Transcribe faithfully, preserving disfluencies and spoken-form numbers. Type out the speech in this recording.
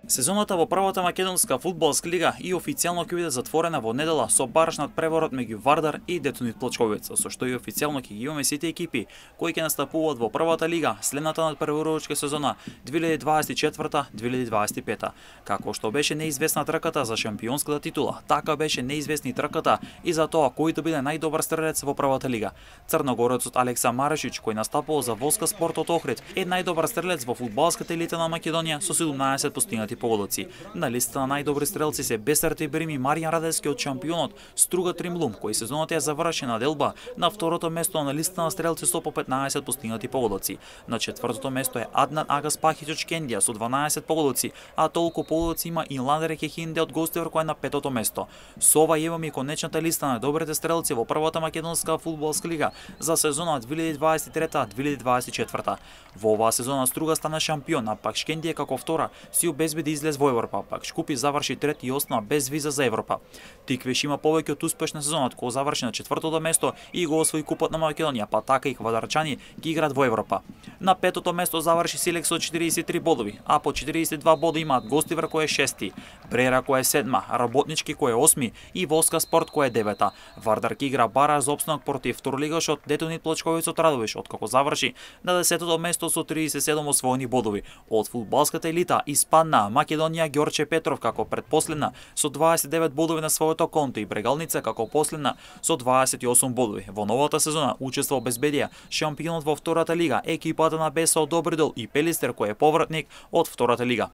Сезоната во првата македонска фудбалска лига и официјално ќе биде затворена во недела со барашнат преворот меѓу Вардар и Детонит Плочковица, со што и официјално ќе ги имаме сите екипи кои ќе настапуваат во првата лига следната надпреварувачка сезона две илјади дваесет и четврта - две илјади дваесет и пета. Како што беше неизвестна трката за шампионската титула, така беше неизвестни трката и за тоа кој да биде најдобар стрелец во првата лига. Црногорецот Алекса Марешич, кој настапувал за Воска Спорт од Охрид, е најдобар стрелец во фудбалската елита на Македонија со седумнаесет постигнати погодоци. На листата на најдобри стрелци се Бесарти Брими, Маријан Радевски од шампионот Струга Тримлум, кој сезоната ја заврши на Делба на второто место на листата на стрелци со по петнаесет постигнати погодоци. На четвртото место е Аднан Агас Пахич од Шкендија со дванаесет погодоци, а толку погодоци има и Ладер Кехинде од Гостивар кој е на петото место. Со ова имаме и конечната листа на добрите стрелци во првата македонска фудбалска лига за сезона две илјади дваесет и трета - две илјади дваесет и четврта. Во оваа сезона Струга стана шампион, а пак Шкендија како втора си обезбеди излез во Европа, пак Шкупи заврши трети и остана без виза за Европа. Тиквеш има повеќе од успешна сезонат кога заврши на четвртото место и го освои купот на Македонија, па така и Квадарчани ги играат во Европа. На петото место заврши Силекс со четириесет и три бодови, а по четириесет и два бода имаат Гостивар кој е шести, Брера кој е седма, Работнички кој е осми и Воска Спорт кој е девета. Вардар ќе игра бара за опстанок против второлигашот Детонит Плочковица од Радовиш, откако заврши на десетото место со триесет и седум освоени бодови. Од фудбалската елита испадна Македонија Ѓорче Петров како предпоследна со дваесет и девет бодови на своето конто и Брегалница како последна со дваесет и осум бодови. Во новата сезона учествува обезбедија шампионот во втората лига, екипата на Беса од Добридол и Пелистер кој е повратник од втората лига.